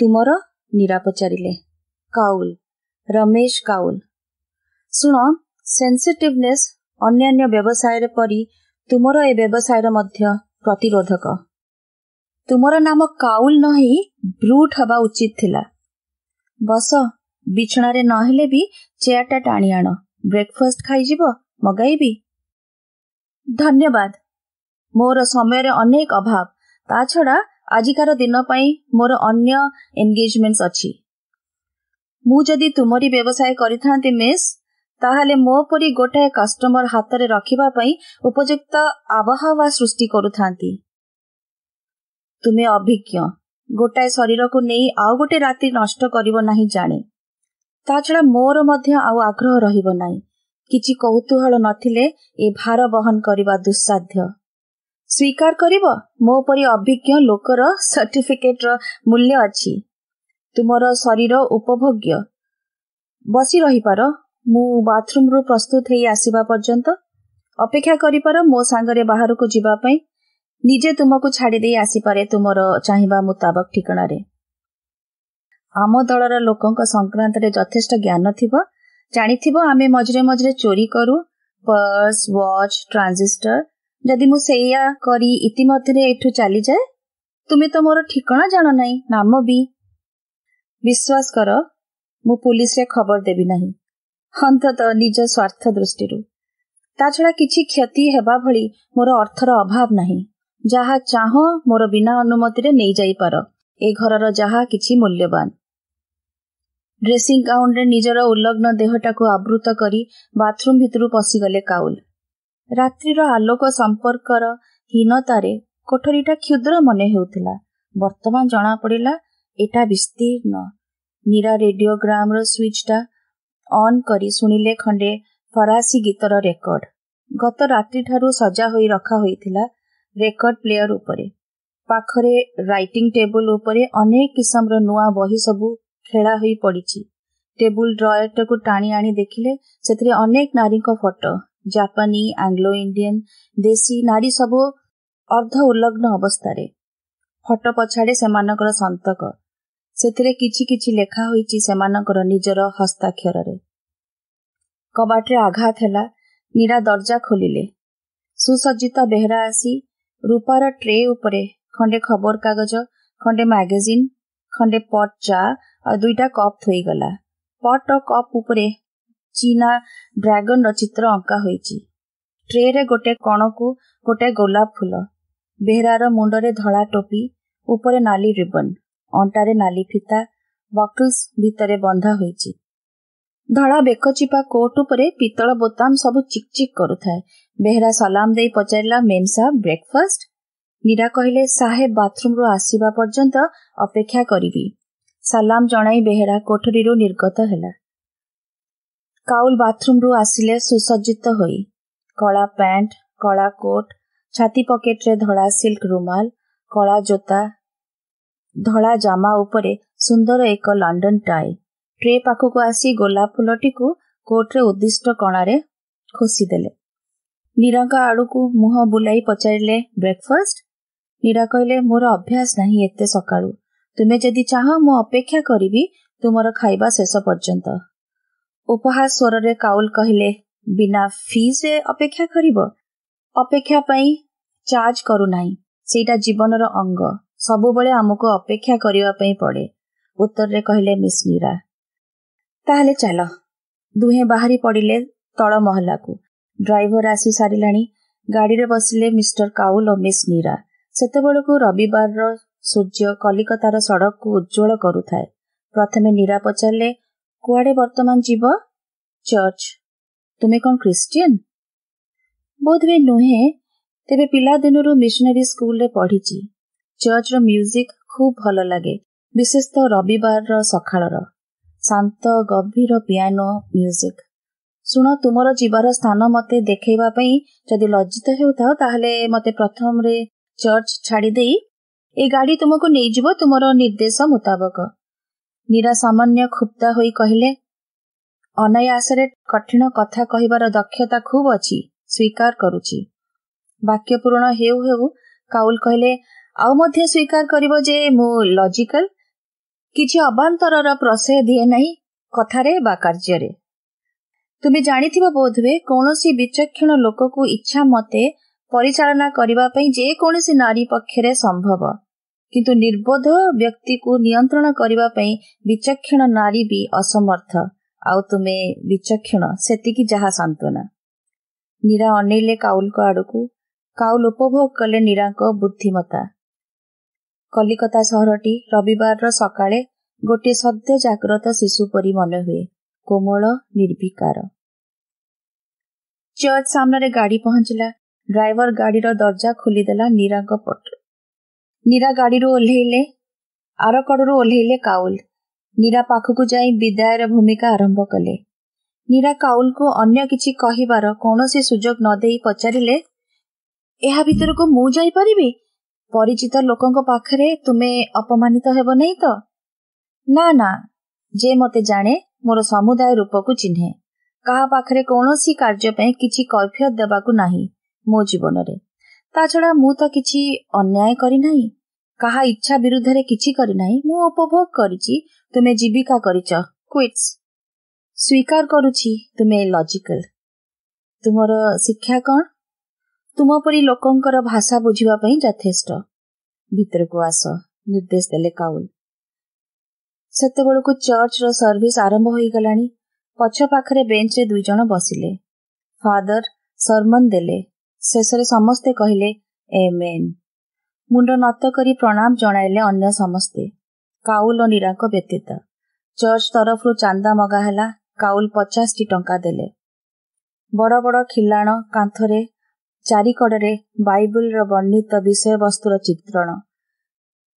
B: ତୁମର? ନୀରା ପଚାରିଲେ। କାଉଲ, ରମେଶ କାଉଲ। ଶୁଣ, ସେନ୍ସିଟିଭନେସ୍ ଅନ୍ୟାନ୍ୟ ବ୍ୟବସାୟରେ ପରି ତୁମର ଏ ବ୍ୟବସାୟର ମଧ୍ୟ ପ୍ରତିରୋଧକ। ତୁମର ନାମ କାଉଲ ନ ହେଇ ବ୍ରୁଟ୍ ହେବା ଉଚିତ ଥିଲା। ବସ, ବିଛଣାରେ ନହେଲେ ବି ଚେୟାରଟା ଟାଣି ଆଣ। ବ୍ରେକଫାଷ୍ଟ ଖାଇଯିବ? ମଗାଇବି? ଧନ୍ୟବାଦ। ମୋର ସମୟରେ ଅନେକ ଅଭାବ। ତା ଛଡ଼ା ଆଜିକାର ଦିନ ପାଇଁ ମୋର ଅନ୍ୟ ଏନଗେଜମେଣ୍ଟସ୍ ଅଛି। ମୁଁ ଯଦି ତୁମରି ବ୍ୟବସାୟ କରିଥାନ୍ତି ମିସ୍, ତାହେଲେ ମୋ ପରି ଗୋଟାଏ କଷ୍ଟମର ହାତରେ ରଖିବା ପାଇଁ ଉପଯୁକ୍ତ ଆବହାୱା ସୃଷ୍ଟି କରୁଥାନ୍ତି। ତୁମେ ଅଭିଜ୍ଞ, ଗୋଟାଏ ଶରୀରକୁ ନେଇ ଆଉ ଗୋଟେ ରାତି ନଷ୍ଟ କରିବ ନାହିଁ ଜାଣେ। ତା ଛଡ଼ା ମୋର ମଧ୍ୟ ଆଉ ଆଗ୍ରହ ରହିବ ନାହିଁ। କିଛି କୌତୂହଳ ନଥିଲେ ଏ ଭାର ବହନ କରିବା ଦୁଃସାଧ୍ୟ। ସ୍ୱୀକାର କରିବ, ମୋ ପରି ଅଭିଜ୍ଞ ଲୋକର ସାର୍ଟିଫିକେଟର ମୂଲ୍ୟ ଅଛି। ତୁମର ଶରୀର ଉପଭୋଗ୍ୟ। ବସି ରହିପାର, ମୁଁ ବାଥରୁମରୁ ପ୍ରସ୍ତୁତ ହେଇ ଆସିବା ପର୍ଯ୍ୟନ୍ତ ଅପେକ୍ଷା କରିପାର ମୋ ସାଙ୍ଗରେ ବାହାରକୁ ଯିବା ପାଇଁ। ନିଜେ ତୁମକୁ ଛାଡ଼ିଦେଇ ଆସିପାରେ ତୁମର ଚାହିଁବା ମୁତାବକ ଠିକଣାରେ। ଆମ ଦଳର ଲୋକଙ୍କ ସଂକ୍ରାନ୍ତରେ ଯଥେଷ୍ଟ ଜ୍ଞାନ ଥିବ। ଜାଣିଥିବ ଆମେ ମଝିରେ ମଝିରେ ଚୋରି କରୁ, ପର୍ସ, ୱାଚ୍, ଟ୍ରାଞ୍ଜିଷ୍ଟର। ଯଦି ମୁଁ ସେଇଆ କରି ଇତିମଧ୍ୟରେ ଏଠୁ ଚାଲିଯାଏ, ତୁମେ ତ ମୋର ଠିକଣା ଜାଣ ନାହିଁ, ନାମ ବି। ବିଶ୍ୱାସ କର, ମୁଁ ପୁଲିସରେ ଖବର ଦେବି ନାହିଁ, ଅନ୍ତତଃ ନିଜ ସ୍ୱାର୍ଥ ଦୃଷ୍ଟିରୁ। ତା ଛଡ଼ା କିଛି କ୍ଷତି ହେବା ଭଳି ମୋର ଅର୍ଥର ଅଭାବ ନାହିଁ। ଯାହା ଚାହଁ ମୋର ବିନା ଅନୁମତିରେ ନେଇଯାଇପାର, ଏ ଘରର ଯାହା କିଛି ମୂଲ୍ୟବାନ। ଡ୍ରେସିଂ ଗାଉନରେ ନିଜର ଉଲଗ୍ନ ଦେହଟାକୁ ଆବୃତ କରି ବାଥରୁମ୍ ଭିତରୁ ପଶିଗଲେ କାଉଲ। ରାତ୍ରିର ଆଲୋକ ସମ୍ପର୍କର ହୀନତାରେ କୋଠରୀଟା କ୍ଷୁଦ୍ର ମନେ ହେଉଥିଲା। ବର୍ତ୍ତମାନ ଜଣାପଡ଼ିଲା ଏଟା ବିସ୍ତୀର୍ଣ୍ଣ। ନୀରା ରେଡିଓଗ୍ରାମର ସୁଇଚଟା ଅନ୍ କରି ଶୁଣିଲେ ଖଣ୍ଡେ ଫରାସୀ ଗୀତର ରେକର୍ଡ। ଗତ ରାତ୍ରିଠାରୁ ସଜା ହୋଇ ରଖା ହୋଇଥିଲା ରେକର୍ଡ ପ୍ଲେୟର ଉପରେ। ପାଖରେ ରାଇଟିଂ ଟେବୁଲ ଉପରେ ଅନେକ କିସମର ନୂଆ ବହି ସବୁ ଖେଳା ହୋଇ ପଡ଼ିଛି। ଟେବୁଲ ଡ୍ରୟରଟାକୁ ଟାଣି ଆଣି ଦେଖିଲେ ସେଥିରେ ଅନେକ ନାରୀଙ୍କ ଫଟୋ, ଜାପାନୀ, ଆଙ୍ଗ୍ଲୋ ଇଣ୍ଡିଆନ, ଦେଶୀ ନାରୀ ସବୁ ଅର୍ଦ୍ଧ ଉଲଗ୍ନ ଅବସ୍ଥାରେ। ଫଟୋ ପଛାଡ଼େ ସେମାନଙ୍କର ସନ୍ତକ, ସେଥିରେ କିଛି କିଛି ଲେଖା ହୋଇଛି ସେମାନଙ୍କର ନିଜର ହସ୍ତାକ୍ଷରରେ। କବାଟରେ ଆଘାତ ହେଲା। ନୀରା ଦରଜା ଖୋଲିଲେ। ସୁସଜ୍ଜିତ ବେହେରା ଆସି ରୂପାର ଟ୍ରେ ଉପରେ ଖଣ୍ଡେ ଖବରକାଗଜ, ଖଣ୍ଡେ ମ୍ୟାଗାଜିନ୍, ଖଣ୍ଡେ ପଟ୍ ଚା ଆଉ 2ଟା କପ୍ ଥୋଇଗଲା। ପଟ୍ ଓ କପ୍ ଉପରେ ଚୀନା ଡ୍ରାଗନର ଚିତ୍ର ଅଙ୍କା ହୋଇଛି। ଟ୍ରେରେ ଗୋଟେ କଣକୁ ଗୋଟେ ଗୋଲାପ ଫୁଲ। ବେହେରାର ମୁଣ୍ଡରେ ଧଳା ଟୋପି, ଉପରେ ନାଲି ରିବନ, ଅଣ୍ଟାରେ ନାଲି ଫିତା, ବକଲ୍ସ ଭିତରେ ବନ୍ଧା ହୋଇଛି। ଧଳା ବେକଚିପା କୋଟ୍ ଉପରେ ପିତ୍ତଳ ବୋତାମ ସବୁ ଚିକ୍ ଚିକ୍ କରୁଥାଏ। ବେହେରା ସଲାମ ଦେଇ ପଚାରିଲା, ମେମ୍ ସାହେବ, ବ୍ରେକଫାଷ୍ଟ? ନୀରା କହିଲେ, ସାହେବ ବାଥରୁମରୁ ଆସିବା ପର୍ଯ୍ୟନ୍ତ ଅପେକ୍ଷା କରିବି। ସାଲାମ ଜଣାଇ ବେହେରା କୋଠରୀରୁ ନିର୍ଗତ ହେଲା। କାଉଲ ବାଥରୁମରୁ ଆସିଲେ ସୁସଜ୍ଜିତ ହୋଇ। କଳା ପ୍ୟାଣ୍ଟ, କଳା କୋଟ୍, ଛାତି ପକେଟରେ ଧଳା ସିଲ୍କ ରୁମାଲ, କଳା ଜୋତା, ଧଳା ଜାମା ଉପରେ ସୁନ୍ଦର ଏକ ଲଣ୍ଡନ ଟାଇ। ଟ୍ରେ ପାଖକୁ ଆସି ଗୋଲାପ ଫୁଲଟିକୁ କୋଟ୍ରେ ଉଦ୍ଦିଷ୍ଟ କଣାରେ ଖୋସିଦେଲେ। ନୀରାଙ୍କ ଆଡ଼କୁ ମୁହଁ ବୁଲାଇ ପଚାରିଲେ, ବ୍ରେକଫାଷ୍ଟ? ନୀରା କହିଲେ, ମୋର ଅଭ୍ୟାସ ନାହିଁ ଏତେ ସକାଳୁ। ତୁମେ ଯଦି ଚାହଁ ମୁଁ ଅପେକ୍ଷା କରିବି ତୁମର ଖାଇବା ଶେଷ ପର୍ଯ୍ୟନ୍ତ। ଉପହାସ ସ୍ୱରରେ କାଉଲ କହିଲେ, ବିନା ଫିଜ୍ରେ ଅପେକ୍ଷା କରିବ? ଅପେକ୍ଷା ପାଇଁ ଚାର୍ଜ କରୁନାହିଁ, ସେଇଟା ଜୀବନର ଅଙ୍ଗ। ସବୁବେଳେ ଆମକୁ ଅପେକ୍ଷା କରିବା ପାଇଁ ପଡ଼େ, ଉତ୍ତରରେ କହିଲେ ମିସ୍ ନୀରା। ତାହେଲେ ଚାଲ। ଦୁହେଁ ବାହାରି ପଡ଼ିଲେ ତଳ ମହଲାକୁ। ଡ୍ରାଇଭର ଆସି ସାରିଲାଣି। ଗାଡ଼ିରେ ବସିଲେ ମିଷ୍ଟର କାଉଲ ଓ ମିସ୍ ନୀରା। ସେତେବେଳକୁ ରବିବାରର ସୂର୍ଯ୍ୟ କଲିକତାର ସଡ଼କକୁ ଉଜ୍ଜ୍ୱଳ କରୁଥାଏ। ପ୍ରଥମେ ନୀରା ପଚାରିଲେ, କୁଆଡ଼େ ବର୍ତ୍ତମାନ ଯିବ? ଚର୍ଚ୍ଚ। ତୁମେ କ'ଣ ଖ୍ରୀଷ୍ଟିଆନ? ବୋଧହୁଏ ନୁହେଁ, ତେବେ ପିଲାଦିନରୁ ମିଶନାରୀ ସ୍କୁଲରେ ପଢ଼ିଛି। ଚର୍ଚ୍ଚର ମ୍ୟୁଜିକ୍ ଖୁବ୍ ଭଲ ଲାଗେ, ବିଶେଷତଃ ରବିବାରର ସକାଳର ଶାନ୍ତ ଗଭୀର ପିଆନୋ ମ୍ୟୁଜିକ୍। ଶୁଣ, ତୁମର ଯିବାର ସ୍ଥାନ ମୋତେ ଦେଖାଇବା ପାଇଁ ଯଦି ଲଜ୍ଜିତ ହେଉଥାଅ, ତାହେଲେ ମୋତେ ପ୍ରଥମରେ ଚର୍ଚ୍ଚ ଛାଡ଼ିଦେଇ ଏ ଗାଡ଼ି ତୁମକୁ ନେଇଯିବ ତୁମର ନିର୍ଦ୍ଦେଶ ମୁତାବକ। ନୀରା ସାମାନ୍ୟ କ୍ଷୁବ୍ଧା ହୋଇ କହିଲେ, ଅନାୟାସରେ କଠିନ କଥା କହିବାର ଦକ୍ଷତା ଖୁବ୍ ଅଛି, ସ୍ୱୀକାର କରୁଛି। ବାକ୍ୟ ପୂରଣ ହେଉ ହେଉ କାଉଲ କହିଲେ, ଆଉ ମଧ୍ୟ ସ୍ୱୀକାର କରିବ ଯେ ମୁଁ ଲଜିକାଲ, କିଛି ଅବାନ୍ତରର ପ୍ରଶ୍ରୟ ଦିଏ ନାହିଁ କଥାରେ ବା କାର୍ଯ୍ୟରେ। ତୁମେ ଜାଣିଥିବ ବୋଧହୁଏ, କୌଣସି ବିଚକ୍ଷଣ ଲୋକକୁ ଇଚ୍ଛା ମତେ ପରିଚାଳନା କରିବା ପାଇଁ ଯେକୌଣସି ନାରୀ ପକ୍ଷରେ ସମ୍ଭବ, କିନ୍ତୁ ନିର୍ବୋଧ ବ୍ୟକ୍ତିକୁ ନିୟନ୍ତ୍ରଣ କରିବା ପାଇଁ ବିଚକ୍ଷଣ ନାରୀ ବି ଅସମର୍ଥ। ଆଉ ତୁମେ ବିଚକ୍ଷଣ, ସେତିକି ଯାହା ସାନ୍ତ୍ୱନା। ନୀରା ଅନେଇଲେ କାଉଲଙ୍କ ଆଡ଼କୁ। କାଉଲ ଉପଭୋଗ କଲେ ନୀରାଙ୍କ ବୁଦ୍ଧିମତ୍ତା। କଲିକତା ସହରଟି ରବିବାରର ସକାଳେ ଗୋଟିଏ ସଦ୍ୟ ଜାଗ୍ରତ ଶିଶୁ ପରି ମନେହୁଏ, କୋମଳ, ନିର୍ବିକାର। ଚର୍ଚ୍ଚ ସାମ୍ନାରେ ଗାଡ଼ି ପହଞ୍ଚିଲା। ଡ୍ରାଇଭର ଗାଡ଼ିର ଦରଜା ଖୋଲିଦେଲା ନୀରାଙ୍କ ପଟ। ନୀରା ଗାଡ଼ିରୁ ଓହ୍ଲେଇଲେ, ଆର କଡ଼ରୁ ଓହ୍ଲେଇଲେ କାଉଲ। ନୀରା ପାଖକୁ ଯାଇ ବିଦାୟର ଭୂମିକା ଆରମ୍ଭ କଲେ। ନୀରା କାଉଲକୁ ଅନ୍ୟ କିଛି କହିବାର କୌଣସି ସୁଯୋଗ ନ ଦେଇ ପଚାରିଲେ, ଏହା ଭିତରକୁ ମୁଁ ଯାଇପାରିବି? ପରିଚିତ ଲୋକଙ୍କ ପାଖରେ ତୁମେ ଅପମାନିତ ହେବ ନାହିଁ ତ? ନା ନା, ଯେ ମୋତେ ଜାଣେ, ମୋର ସମୁଦାୟ ରୂପକୁ ଚିହ୍ନେ। କାହା ପାଖରେ କୌଣସି କାର୍ଯ୍ୟ ପାଇଁ କିଛି କୈଫିୟତ ଦେବାକୁ ନାହିଁ ମୋ ଜୀବନରେ। ତା ଛଡ଼ା ମୁଁ ତ କିଛି ଅନ୍ୟାୟ କରିନାହିଁ, କାହା ଇଚ୍ଛା ବିରୁଦ୍ଧରେ କିଛି କରିନାହିଁ। ମୁଁ ଉପଭୋଗ କରିଛି, ତୁମେ ଜୀବିକା କରିଛ। କ୍ୱିଟ୍ସ। ସ୍ୱୀକାର କରୁଛି ତୁମେ ଲଜିକାଲ। ତୁମର ଶିକ୍ଷା କ'ଣ? ତୁମ ପରି ଲୋକଙ୍କର ଭାଷା ବୁଝିବା ପାଇଁ ଯଥେଷ୍ଟ। ଭିତରକୁ ଆସ, ନିର୍ଦ୍ଦେଶ ଦେଲେ କାଉଲ। ସେତେବେଳକୁ ଚର୍ଚ୍ଚର ସର୍ଭିସ ଆରମ୍ଭ ହୋଇଗଲାଣି। ପଛ ପାଖରେ ବେଞ୍ଚରେ ଦୁଇ ଜଣ ବସିଲେ। ଫାଦର ସରମନ ଦେଲେ। ଶେଷରେ ସମସ୍ତେ କହିଲେ ଏମେନ୍। ମୁଣ୍ଡ ନତ କରି ପ୍ରଣାମ ଜଣାଇଲେ ଅନ୍ୟ ସମସ୍ତେ, କାଉଲ ଓ ନୀରାଙ୍କ ବ୍ୟତୀତ। ଚର୍ଚ୍ଚ ତରଫରୁ ଚାନ୍ଦା ମଗା ହେଲା। କାଉଲ 50ଟି ଟଙ୍କା ଦେଲେ। ବଡ଼ ବଡ଼ ଖିଲାଣ କାନ୍ଥରେ ଚାରିକଡ଼ରେ ବାଇବଲର ବର୍ଣ୍ଣିତ ବିଷୟବସ୍ତୁର ଚିତ୍ରଣ,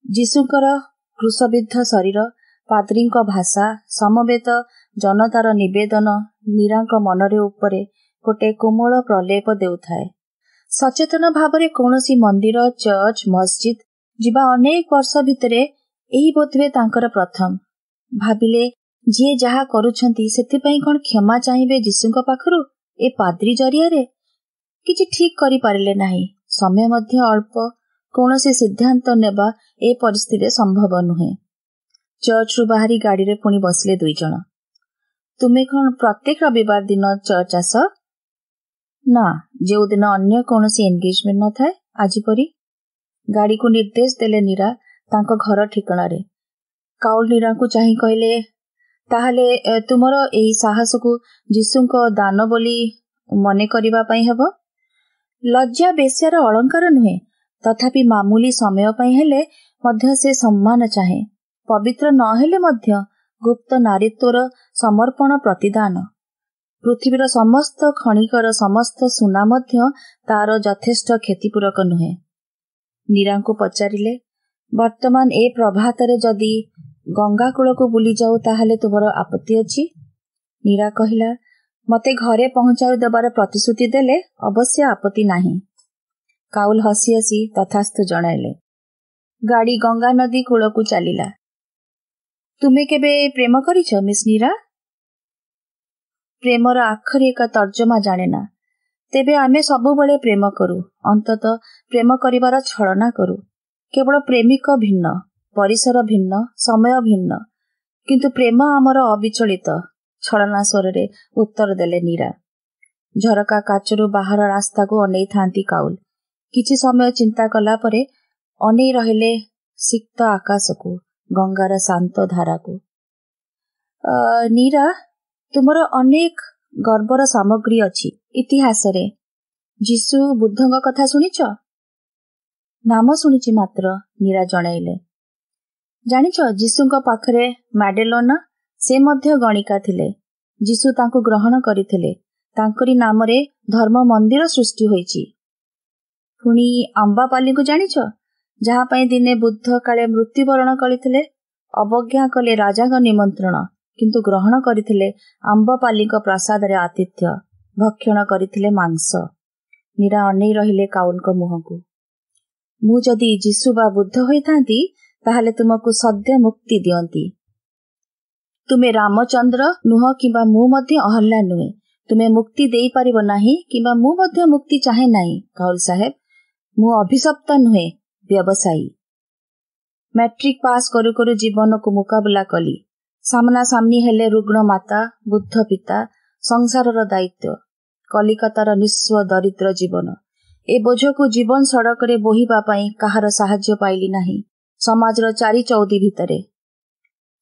B: ଯୀଶୁଙ୍କର କ୍ରୁଶବିଦ୍ଧ ଶରୀର, ପାଦ୍ରୀଙ୍କ ଭାଷା, ସମବେତ ଜନତାର ନିବେଦନ ନୀରାଙ୍କ ମନରେ ଉପରେ ଗୋଟେ କୋମଳ ପ୍ରଲେପ ଦେଉଥାଏ। ସଚେତନ ଭାବରେ କୌଣସି ମନ୍ଦିର, ଚର୍ଚ୍ଚ, ମସଜିଦ୍ ଯିବା ଅନେକ ବର୍ଷ ଭିତରେ ଏହି ବୋଧହୁଏ ତାଙ୍କର ପ୍ରଥମ। ଭାବିଲେ, ଯିଏ ଯାହା କରୁଛନ୍ତି ସେଥିପାଇଁ କ'ଣ କ୍ଷମା ଚାହିଁବେ ଯୀଶୁଙ୍କ ପାଖରୁ ଏ ପାଦ୍ରୀ ଜରିଆରେ? କିଛି ଠିକ୍ କରିପାରିଲେ ନାହିଁ। ସମୟ ମଧ୍ୟ ଅଳ୍ପ। କୌଣସି ସିଦ୍ଧାନ୍ତ ନେବା ଏ ପରିସ୍ଥିତିରେ ସମ୍ଭବ ନୁହେଁ। ଚର୍ଚ୍ଚରୁ ବାହାରି ଗାଡ଼ିରେ ପୁଣି ବସିଲେ ଦୁଇ ଜଣ। ତୁମେ କ'ଣ ପ୍ରତ୍ୟେକ ରବିବାର ଦିନ ଚର୍ଚ୍ଚ ଆସ? ନା, ଯେଉଁଦିନ ଅନ୍ୟ କୌଣସି ଏନଗେଜମେଣ୍ଟ ନଥାଏ, ଆଜି ପରି। ଗାଡ଼ିକୁ ନିର୍ଦ୍ଦେଶ ଦେଲେ ନୀରା ତାଙ୍କ ଘର ଠିକଣାରେ। କାଉଲ ନୀରାଙ୍କୁ ଚାହିଁ କହିଲେ, ତାହେଲେ ତୁମର ଏହି ସାହସକୁ ଯୀଶୁଙ୍କ ଦାନ ବୋଲି ମନେ କରିବା ପାଇଁ ହେବ। ଲଜ୍ଜା ବେଶ୍ୟାର ଅଳଙ୍କାର ନୁହେଁ, ତଥାପି ମାମୁଲି ସମୟ ପାଇଁ ହେଲେ ମଧ୍ୟ ସେ ସମ୍ମାନ ଚାହେଁ। ପବିତ୍ର ନହେଲେ ମଧ୍ୟ ଗୁପ୍ତ ନାରୀତ୍ୱର ସମର୍ପଣ ପ୍ରତିଦାନ। ପୃଥିବୀର ସମସ୍ତ ଖଣିକର ସମସ୍ତ ସୁନା ମଧ୍ୟ ତାର ଯଥେଷ୍ଟ କ୍ଷତିପୂରକ ନୁହେଁ। ନୀରାଙ୍କୁ ପଚାରିଲେ, ବର୍ତ୍ତମାନ ଏ ପ୍ରଭାତରେ ଯଦି ଗଙ୍ଗା କୂଳକୁ ବୁଲିଯାଉ ତାହେଲେ ତୁମର ଆପତ୍ତି ଅଛି? ନୀରା କହିଲା, ମୋତେ ଘରେ ପହଞ୍ଚାଇ ଦେବାର ପ୍ରତିଶ୍ରୁତି ଦେଲେ ଅବଶ୍ୟ ଆପତ୍ତି ନାହିଁ। କାଉଲ ହସି ହସି ତଥାସ୍ତୁ ଜଣାଇଲେ। ଗାଡ଼ି ଗଙ୍ଗା ନଦୀ କୂଳକୁ ଚାଲିଲା। ତୁମେ କେବେ ପ୍ରେମ କରିଛ ମିସ୍ ନୀରା? ପ୍ରେମର ଆଖରି ଏକ ତର୍ଜମା ଜାଣେ ନା। ତେବେ ଆମେ ସବୁବେଳେ ପ୍ରେମ କରୁ, ଅନ୍ତତଃ ପ୍ରେମ କରିବାର ଛଳନା କରୁ। କେବଳ ପ୍ରେମିକ ଭିନ୍ନ, ପରିସର ଭିନ୍ନ, ସମୟ ଭିନ୍ନ, କିନ୍ତୁ ପ୍ରେମ ଆମର ଅବିଚଳିତ। ଛଳନା ସ୍ୱରରେ ଉତ୍ତର ଦେଲେ ନୀରା। ଝରକା କାଚରୁ ବାହାର ରାସ୍ତାକୁ ଅନେଇଥାନ୍ତି କାଉଲ। କିଛି ସମୟ ଚିନ୍ତା କଲା ପରେ ଅନେଇ ରହିଲେ ସିକ୍ତ ଆକାଶକୁ, ଗଙ୍ଗାର ଶାନ୍ତ ଧାରାକୁ। ନୀରା, ତୁମର ଅନେକ ଗର୍ବର ସାମଗ୍ରୀ ଅଛି ଇତିହାସରେ। ଯୀଶୁ, ବୁଦ୍ଧଙ୍କ କଥା ଶୁଣିଛ? ନାମ ଶୁଣିଛି ମାତ୍ର, ନୀରା ଜଣାଇଲେ। ଜାଣିଛ, ଯୀଶୁଙ୍କ ପାଖରେ ମାଡେଲୋନା, ସେ ମଧ୍ୟ ଗଣିକା ଥିଲେ। ଯୀଶୁ ତାଙ୍କୁ ଗ୍ରହଣ କରିଥିଲେ। ତାଙ୍କରି ନାମରେ ଧର୍ମ ମନ୍ଦିର ସୃଷ୍ଟି ହୋଇଛି। ପୁଣି ଆମ୍ବାପାଲିଙ୍କୁ ଜାଣିଛ, ଯାହା ପାଇଁ ଦିନେ ବୁଦ୍ଧ କାଳେ ମୃତ୍ୟୁବରଣ କରିଥିଲେ? ଅବଜ୍ଞା କଲେ ରାଜାଙ୍କ ନିମନ୍ତ୍ରଣ, କିନ୍ତୁ ଗ୍ରହଣ କରିଥିଲେ ଆମ୍ବପାଲିଙ୍କ ପ୍ରାସାଦରେ ଆତିଥ୍ୟ, ଭକ୍ଷଣ କରିଥିଲେ ମାଂସ। ନୀରା ଅନେଇ ରହିଲେ କାଉଲଙ୍କ ମୁହଁକୁ। ମୁଁ ଯଦି ଯୀଶୁ ବା ବୁଦ୍ଧ ହୋଇଥାନ୍ତି ତାହେଲେ ତୁମକୁ ସଦ୍ୟ ମୁକ୍ତି ଦିଅନ୍ତି। ତୁମେ ରାମଚନ୍ଦ୍ର ନୁହଁ କିମ୍ବା ମୁଁ ମଧ୍ୟ ଅହଲ୍ୟା ନୁହେଁ। ତୁମେ ମୁକ୍ତି ଦେଇପାରିବ ନାହିଁ କିମ୍ବା ମୁଁ ମଧ୍ୟ ମୁକ୍ତି ଚାହେଁ ନାହିଁ। କାଉଲ ସାହେବ, ମୁଁ ଅଭିଶପ୍ତ ନୁହେଁ, ବ୍ୟବସାୟୀ। ମାଟ୍ରିକ ପାସ୍ କରୁ କରୁ ଜୀବନକୁ ମୁକାବିଲା କଲି। ସାମ୍ନାସାମ୍ନି ହେଲେ ରୁଗ୍ଣ ମାତା, ବୁଦ୍ଧ ପିତା, ସଂସାରର ଦାୟିତ୍ୱ, କଲିକତାର ନିଃସ୍ୱ ଦରିଦ୍ର ଜୀବନ। ଏ ବୋଝକୁ ଜୀବନ ସଡ଼କରେ ବୋହିବା ପାଇଁ କାହାର ସାହାଯ୍ୟ ପାଇଲି ନାହିଁ ସମାଜର ଚାରି ଚଉଦି ଭିତରେ।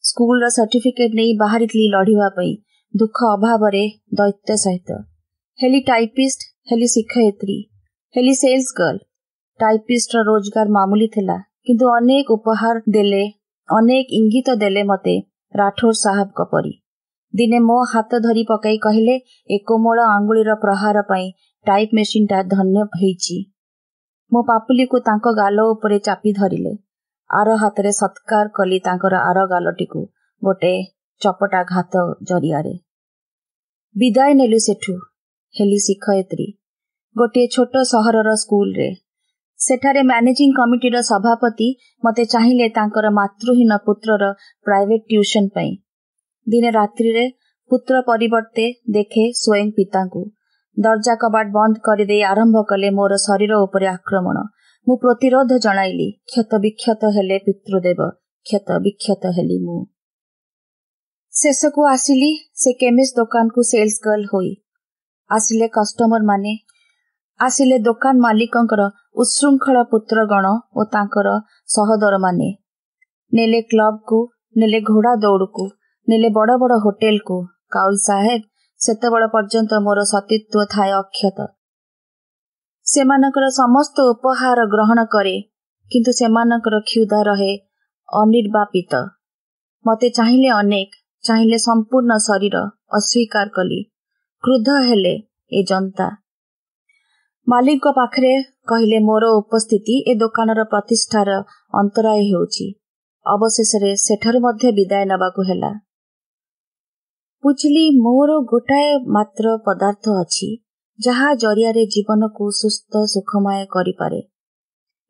B: ସ୍କୁଲର ସାର୍ଟିଫିକେଟ ନେଇ ବାହାରିଥିଲି ଲଢ଼ିବା ପାଇଁ ଦୁଃଖ ଅଭାବରେ ଦୈତ୍ୟ ସହିତ। ହେଲି ଟାଇପିଷ୍ଟ, ହେଲି ଶିକ୍ଷୟିତ୍ରୀ, ହେଲି ସେଲ୍ସ ଗର୍ଲ। ଟାଇପିଷ୍ଟର ରୋଜଗାର ମାମୁଲି ଥିଲା, କିନ୍ତୁ ଅନେକ ଉପହାର ଦେଲେ, ଅନେକ ଇଙ୍ଗିତ ଦେଲେ ମତେ ରାଠୋର ସାହେବଙ୍କ ପରି। ଦିନେ ମୋ ହାତ ଧରି ପକାଇ କହିଲେ, ଏ କୋମଳ ଆଙ୍ଗୁଳିର ପ୍ରହାର ପାଇଁ ଟାଇପ୍ ମେସିନଟା ଧନ୍ୟ ହେଇଛି। ମୋ ପାପୁଲିକୁ ତାଙ୍କ ଗାଲ ଉପରେ ଚାପି ଧରିଲେ। ଆର ହାତରେ ସତ୍କାର କଲି ତାଙ୍କର ଆର ଗାଲଟିକୁ ଗୋଟେ ଚପଟା ଘାତ ଜରିଆରେ। ବିଦାୟ ନେଲୁ ସେଠୁ। ହେଲି ଶିକ୍ଷୟିତ୍ରୀ ଗୋଟିଏ ଛୋଟ ସହରର ସ୍କୁଲରେ। ସେଠାରେ ମ୍ୟାନେଜିଂ କମିଟିର ସଭାପତି ମୋତେ ଚାହିଁଲେ ତାଙ୍କର ମାତୃହୀନ ପୁତ୍ରର ପ୍ରାଇଭେଟ ଟ୍ୟୁସନ ପାଇଁ। ଦିନେ ରାତ୍ରିରେ ପୁତ୍ର ପରିବର୍ତ୍ତେ ଦେଖେ ସ୍ୱୟଂ ପିତାଙ୍କୁ। ଦରଜା କବାଟ ବନ୍ଦ କରିଦେଇ ଆରମ୍ଭ କଲେ ମୋର ଶରୀର ଉପରେ ଆକ୍ରମଣ। ମୁଁ ପ୍ରତିରୋଧ ଜଣାଇଲି। କ୍ଷତ ବିକ୍ଷତ ହେଲେ ପିତୃଦେବ, କ୍ଷତ ବିକ୍ଷତ ହେଲି ମୁଁ। ଶେଷକୁ ଆସିଲି ସେ କେମିଷ୍ଟ ଦୋକାନକୁ ସେଲ୍ସ ଗର୍ଲ ହୋଇ। ଆସିଲେ କଷ୍ଟମର ମାନେ, ଆସିଲେ ଦୋକାନ ମାଲିକଙ୍କର ଉତ୍ଶୃଙ୍ଖଳ ପୁତ୍ରଗଣ ଓ ତାଙ୍କର ସହୋଦରମାନେ। ନେଲେ କ୍ଲବକୁ, ନେଲେ ଘୋଡ଼ା ଦୌଡ଼କୁ, ନେଲେ ବଡ଼ ବଡ଼ ହୋଟେଲକୁ। କାଉଲ ସାହେବ, ସେତେବେଳ ପର୍ଯ୍ୟନ୍ତ ମୋର ସତୀତ୍ୱ ଥାଏ ଅକ୍ଷତ। ସେମାନଙ୍କର ସମସ୍ତ ଉପହାର ଗ୍ରହଣ କରେ, କିନ୍ତୁ ସେମାନଙ୍କର କ୍ଷୁଧା ରହେ ଅନିର୍ବାପିତ। ମୋତେ ଚାହିଁଲେ ଅନେକ, ଚାହିଁଲେ ସମ୍ପୂର୍ଣ୍ଣ ଶରୀର, ଅସ୍ୱୀକାର କଲି। କ୍ରୁଦ୍ଧ ହେଲେ ଏ ଜନ୍ତା। ମାଲିକଙ୍କ ପାଖରେ କହିଲେ ମୋର ଉପସ୍ଥିତି ଏ ଦୋକାନର ପ୍ରତିଷ୍ଠାର ଅନ୍ତରାୟ ହେଉଛି। ଅବଶେଷରେ ସେଠାରୁ ମଧ୍ୟ ବିଦାୟ ନେବାକୁ ହେଲା। ବୁଝିଲି ମୋର ଗୋଟାଏ ମାତ୍ର ପଦାର୍ଥ ଅଛି ଯାହା ଜରିଆରେ ଜୀବନକୁ ସୁସ୍ଥ ସୁଖମୟ କରିପାରେ।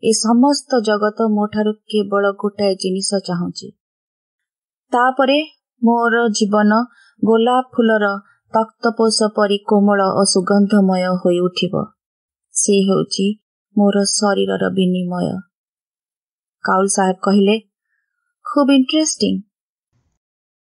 B: ଏ ସମସ୍ତ ଜଗତ ମୋଠାରୁ କେବଳ ଗୋଟାଏ ଜିନିଷ ଚାହୁଁଛି। ତାପରେ ମୋର ଜୀବନ ଗୋଲାପ ଫୁଲର ତକ୍ତପୋଷ ପରି କୋମଳ ଓ ସୁଗନ୍ଧମୟ ହୋଇଉଠିବ। ସେ ହେଉଛି ମୋର ଶରୀରର ବିନିମୟ। କାଉଲ ସାହେବ କହିଲେ, ଖୁବ୍ ଇଣ୍ଟରେଷ୍ଟିଂ।